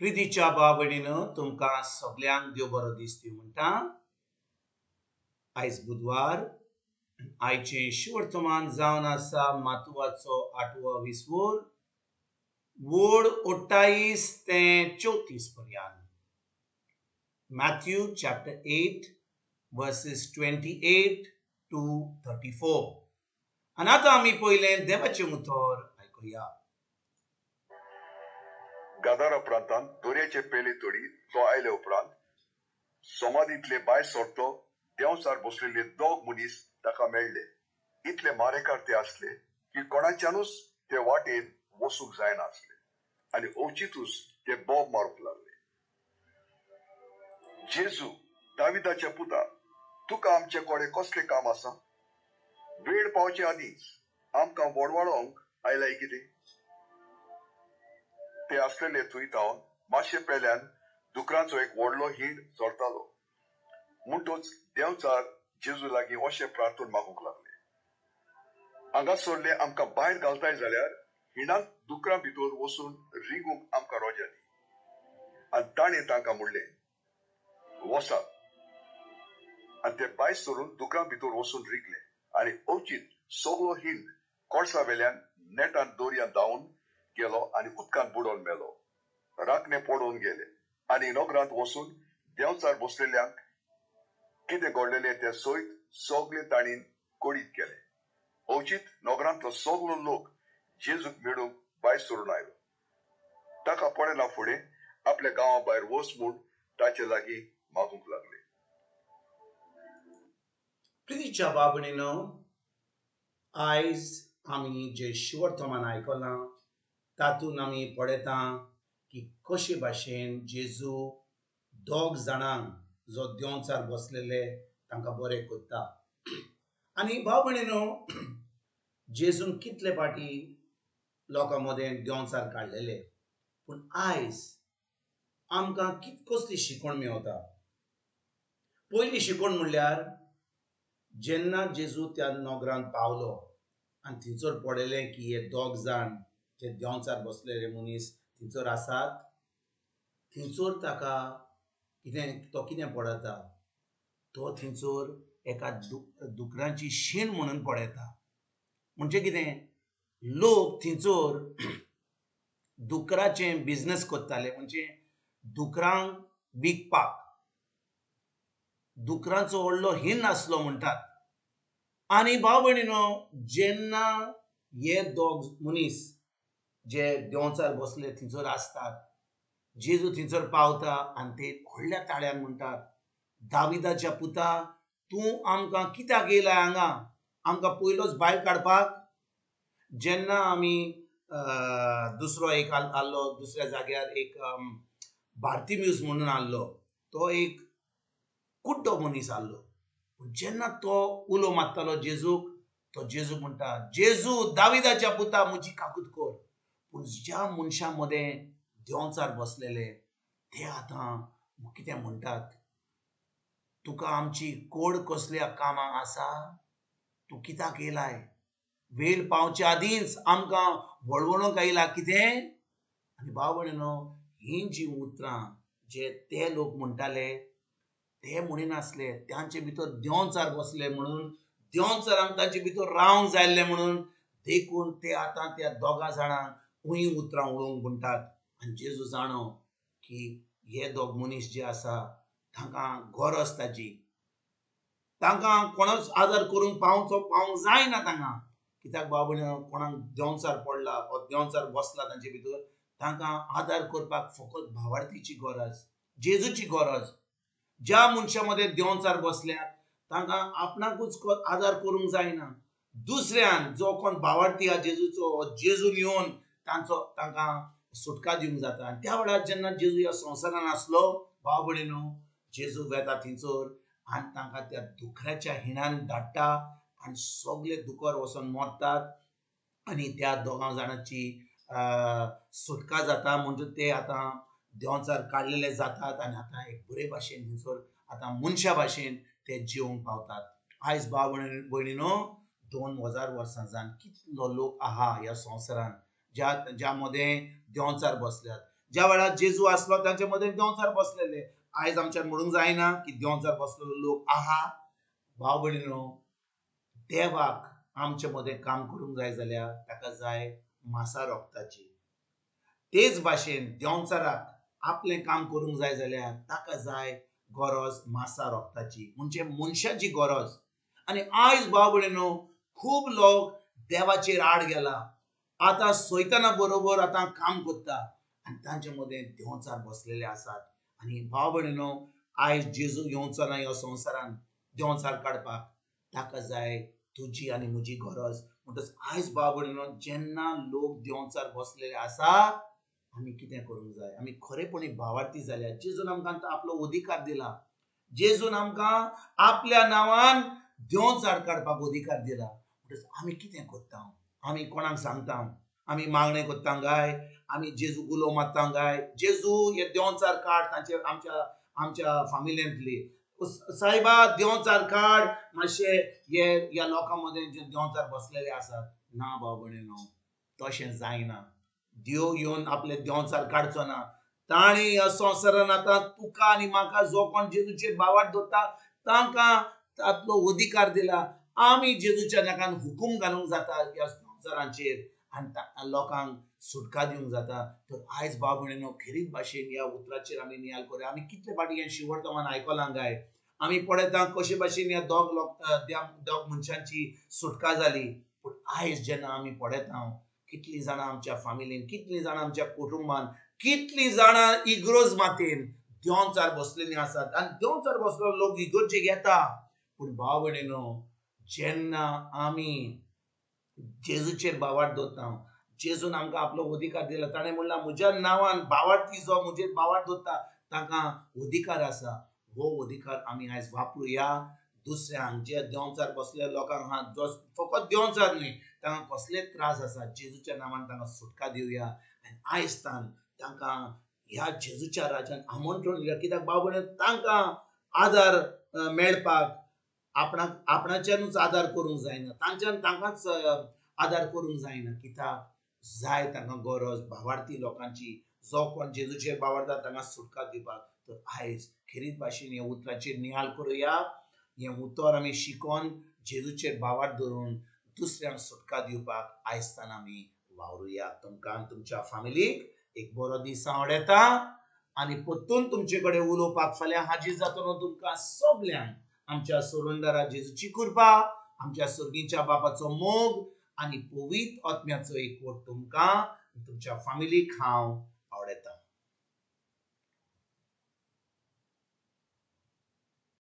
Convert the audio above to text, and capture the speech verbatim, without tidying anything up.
प्रितीच्या भाव भयणीनो, तुमकां सगल्यांक देव बरो दीस दिवं म्हणटा. आयज बुधवार, आयचें शुवर्तमान जावन आसा मातुवाचो आठवो विसवोर, वोड अठ्ठावीस ते चवतीस पर्यंत. Matthew chapter eight verses twenty eight to thirty four. आनी आतां आमी पयलें देवाचें उतर आयकुया. गादारा प्रांतांत दर्याचे पेले तडी तो आयले उपरांत समाधींतले भायर सरतो देंवचार बसलेले दोग मनीस ताका मेळ्ळे. इतले मारेकार ते आसले की कोणाच्यानूच ते वाटेन वसूंक जायना आसले आनी अवचितूच ते बोब मारूंक लागले. जेजू, दाविदाच्या पुता, तुका आमचे कडेन कसलें काम आसा? वेळ पावचे आदींच आमकां वडवाडोवंक आयलाय कितें? ते आसलेले थंय थावन मातशे पेल्यान दुकरांचो एक व्हडलो हींड चरतालो. म्हणटच देंवचार जेजू लागीं अशें प्रार्थून मागूंक लागले, हांगासरले आमकां भायर घालताय जाल्यार हिंडांत दुकरां भितर वचून रिगूंक आमकां रोजा दी. आनी ताणें तांकां म्हणलें, वसात. आनी ते भायर सरून दुकरां भितर वचून रिगले आनी अवचीत सगळो हिंड कोळसा वेल्यान नेटान दर्यांत धांवन गेलो आनी उदकांत बुडोवन मेलो. राखणे पडोवन गेले आनी नगरांत वचून देंवचार बसलेल्यांक कितें घडलेलें तें सयत सगळें तांणी कळीत केलें. अवचीत नगरांतलो सगळो लोक जेजूक मेळूंक भायर सरून आयलो. ताका पळयना फुडें आपल्या गांवा भायर वच म्हूण ताचे लागीं मागूंक लागले. प्रितीच्या भाव भयणीनो, आयज आमी जें शुवर्तमान आयकलां तातूंत आमी पळयता की कशे भाशेन जेजू दोग जाणांक जो देंवचार बसलेले तांकां बरें करता. आनी भाव भयणीनो, जेजून कितले फावटी लोकां मदें देंवचार काडलेले, पूण आयज आमकां कित कसली शिकवण मेवता. पयली शिकवण म्हणल्यार जेन्ना जेजू त्या नगरांत पावलो आनी थंयसर पळयलें की हे दोग जाण जे देंवचार बसलेले मनीस थंयसर आसात, थंयसर ताका कितें तो कितें पळयता, तो थंयसर एका दुकरांची शीण म्हणून पळयता. म्हणजे कितें, लोक थंयसर दुकराचें बिजनस करताले, म्हणजे दुकरांक विकपाक. दुकरांचो व्हडलो हीण आसलो म्हणटात. आनी भाव भयणीनो, जेन्ना हे दोग मनीस जे देंवचार बसले थंयसर आसतात, जेजू थंयसर पावता आनी ते व्हडल्या ताळ्यान म्हणटात, दाविदाच्या पुता, तूं आमकां कित्याक येयलाय हांगा, आमकां पयलोच भायर काडपाक? जेन्ना आमी दुसरो एक आहलो दुसऱ्या जाग्यार एक भारती म्यूज म्हणून आहलो, तो एक कुड्डो मनीस आहलो. पूण जेन्ना तो उलो मारतालो जेजूक, तो जेजूक म्हणटा, जेजू दाविदाच्या पुता, म्हजी काकूत कर. पूण ज्या मनशां मदें देंवचार बसलेले ते आतां कितें म्हणटात, तुका आमची कोड कसल्या कामां आसा, तूं कित्याक येयलाय, वेळ पावचे आदींच आमकां वळवळूंक आयला कितें? आनी भाव भयणीनो, हीं जीं उतरां जे ते लोक म्हणटाले ते म्हणिनासले, तांचे भितर देंवचार बसले म्हणून, देंवचारांक तांचे भितर रावंक जाय आसलें म्हणून, देखून ते आतां त्या दोगां जाणांक उहीं उतरां उलोवंक म्हणटात. आनी जेजू जाणो की हे दोग मनीस जे आसा तांकां गरज ताजी, तांकां कोणूच आदार करूंक पावचो पावंक जायना तांकां. कित्याक भाव भयणीनो, कोणाक देंवचार पडला वा देंवचार बसला तांचे भितर, तांकां आदार करपाक फकत भावार्थीची गरज, जेजूची गरज. ज्या मनशां मदें देंवचार बसल्यात तांकां आपणाकूच आदार करूंक जायना, दुसऱ्यान जो कोण भावार्थी आहा जेजूचो, जेजून येवन तांचो तांकां सुटका दिवंक जाता. आनी त्या वेळार जेन्ना जेजू ह्या संवसारान आसलो, भाव भयणीनो, जेजू वेता थंयसर आनी तांकां त्या दुकराच्या हिणान धाडटा आनी सगळे दुकर वचोन मरतात आनी त्या दोगां जाणांची सुटका जाता. म्हणजे ते आतां देंवचार काडलेले जातात आनी आतां एक बरे भाशेन थंयसर आतां मनशा भाशेन ते जिवंक पावतात. आयज भाव भयणीनो, दोन हजार वर्सां जावन कितलो लोक आहा ह्या संवसारान ज्या ज्या मदें देंवचार बसल्यात, ज्या वेळार जेजू आसलो तांचे मदें देंवचार बसलेले. आयज आमच्यान म्हणूंक जायना की देंवचार बसलेलो लोक आहा. भाव भयणीनो, देवाक आमचे मदें काम करूंक जाय जाल्यार ताका जाय मासा रोगताची. तेच भाशेन देंवचाराक आपलें काम करूंक जाय जाल्यार ताका जाय गरज मासा रोगताची, म्हणजे मनशाची गरज. आनी आयज भाव भयणीनो खूब लोक देवाचेर आड गेला, आतां सैताना बरोबर आतां काम करता आनी तांचे मदें देंवचार बसलेले आसात. आनी भाव भयणीनो, आयज जेजू येवचो ना ह्या संवसारान देंवचार काडपाक, ताका जाय तुजी आनी म्हजी गरज. म्हणटच आयज भाव भयणीनो जेन्ना लोक देंवचार बसलेले आसा आमी कितें करूंक जाय? आमी खरेपणी भावार्थी जाल्या. जेजून आमकां आपलो अधिकार दिला, जेजून आमकां आपल्या नांवान देंवचार काडपाक अधिकार दिला. म्हणटच आमी कितें करता? आमी कोणाक सांगता? आमी मागणें करता काय? आमी जेजू गुलो मारता काय? जेजू हे देंवचार काड तांचे आमच्या आमच्या फामिलेंतली, सायबा देंवचार काड मातशे हे ह्या लोकां मदें जे देंवचार बसलेले आसात. ना भाव भयणीनो, तशें जायना. देव येवन आपले देंवचार काडचो ना. ताणें ह्या संवसारान आतां तुका आनी म्हाका जो कोण जेजूचेर भावार्थ दवरता तांकां आपलो अधिकार दिला. आमी जेजूच्या नांवान हुकूम घालूंक जाता ह्या संवसाराचेर आनी लोकांक सुटका दिवंक जाता. तर आयज भाव भयणीनो खेरीत भाशेन ह्या उतराचेर आमी नियाळ करुया. आमी कितले फावटी हें शिवर्तमान आयकलां काय? आमी पळयता कशे भाशेन ह्या दोग लोक दोग मनशांची सुटका जाली. पूण आयज जेन्ना आमी पळयता कितलीं जाणां आमच्या फामिलीन, कितलीं जाणां आमच्या कुटुंबान, कितलीं जाणां इग्रोज मातेन देंवचार बसलेलीं आसात. आनी देंवचार बसलेलो लोक इगर्जेक येता. पूण भाव भयणीनो, जेन्ना आमी जेजूचेर भावार्थ दवरता, जेजून आमकां आपलो अधिकार दिला. ताणें म्हणलां म्हज्या नांवान भावार्थी जो म्हजेर भावार्थ दवरता तांकां अधिकार आसा. हो अधिकार आमी आयज वापरुया. दुसऱ्यांक जे देंवचार बसले लोकांक आहा, जो फकत देंवचार न्हय, तांकां कसलेच त्रास आसा, जेजूच्या नांवान तांकां सुटका दिवया. आनी आयज तान तांकां ह्या जेजूच्या राज्यान आमंत्रण दिवया. कित्याक भाव भयणीनो, तांकां आदार मेळपाक आपणाक आपणाच्यानूच आदार करूंक जायना, तांच्यान तांकांच आदार करूंक जायना. कित्याक जाय तांकां गरज भावार्थी लोकांची, जो कोण जेजूचेर भावार्था तांकां सुटका दिवपाक. तर आयज खेरीत भाशेन ह्या उतराचेर नियाळ करुया. हें उतर आमी शिकोन जेजूचेर भावार्थ धरून दुसऱ्यांक सुटका दिवपाक आयज तान आमी वावरुया. तुमकां तुमच्या फामिलीक एक बरो दीस आवडटा आनी परतून तुमचे कडेन उलोवपाक फाल्यां हाजीर जातलो. तुमकां सगल्यांक आमच्या सोडणदारा जेजूची कृपा, आमच्या सर्गीच्या बापाचो मोग आनी पवित्र आत्म्याचो एकवट तुमकां तुमच्या फामिलीक हांव